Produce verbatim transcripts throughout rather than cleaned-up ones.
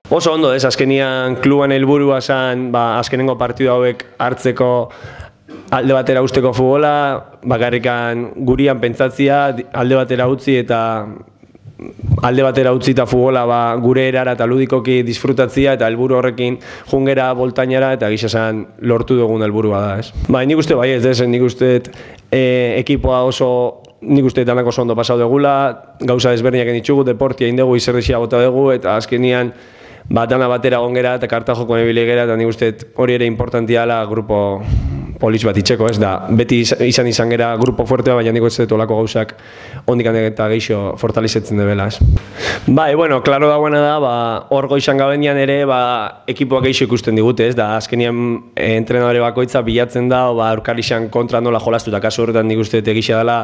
Oso ondo, ez, azkenian kluban helburua zen, ba, azkenengo partidu hauek hartzeko alde batera usteko futbola, bakarrikan gurian pentsatzia, alde batera utzi eta alde batera utzi eta futbola ba, gure erara eta ludikoki disfrutatzia eta helburu horrekin jungera, boltainara eta gisa esan lortu dugun helburua da, ez. Ba, nik uste bai ez, ez, nik uste e, ekipoa oso nik uste danak oso ondo pasau degula, gauza desberdinak ditugu, deportia indegu, izerdixia bota dugu eta azkenian ba, dana batera gongera eta kartajoko nebile gera eta nik uste hori ere importantia dela grupo polis bat itxeko, ez da, beti izan izan gera grupo fuertea, baina nik uste olako gauzak ondik eta geixo fortalizetzen debela, ez. Bai, bueno, klaro dagoena da, ba, hor goizan gabenian ere, ba, ekipoak geixo ikusten digute, ez da, azkenien eh, entrenadore bakoitza bilatzen da, ba, aurkarixan kontra nola jolastu, eta kasu horretan nik uste egisa dela,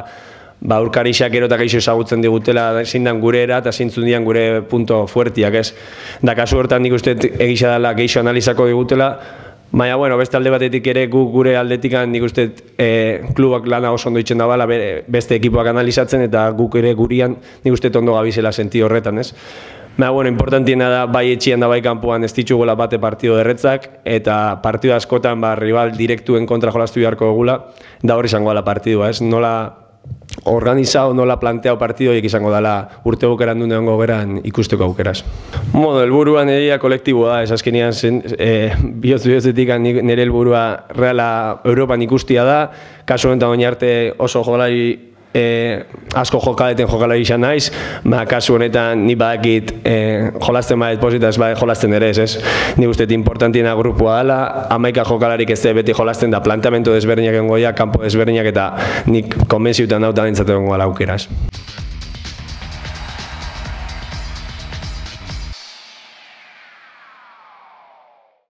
ba, aurkarixak ero eta geixo ezagutzen digutela zindan gure era eta zintzun dian gure punto fuertiak, ez. Da, kasu horretan nik uste egisa dela geixo analizako digutela, baina, bueno, beste alde batetik ere gu gure aldetikan nik uste e, klubak lana oso ondo itzen da bala, beste ekipoak analizatzen eta guk ere gurian nik uste ondo gabizela senti horretan, ez? Baina, bueno, importantiena da bai etxian da bai kanpoan ez ditugula bate partido derretzak eta partido askotan ba, rival direktuen kontra jolastu beharko dugula, da hori izango dela partidua, ez? Nola organizao, nola planteao partidoiek izango dela urte bukeran dune hongo geran ikusteko aukeraz. Bueno, helburua nirea kolektiboa da, ez azkenean e, bihotz bihotzetik nire helburua reala Europan ikustia da, kasu honetan oin arte oso jolari e, asko jokaleten jokalari izan naiz, ba, kasu honetan ni badakit e, jolasten badet posita ez badet jolasten ere ez, ez. Ni usteet importantiena grupua dela, hamaika jokalarik ez beti jolasten da planteamendu desberdinak engoia, kanpo desberdinak eta nik konbentziutan dautan entzatu dengo ala aukeraz.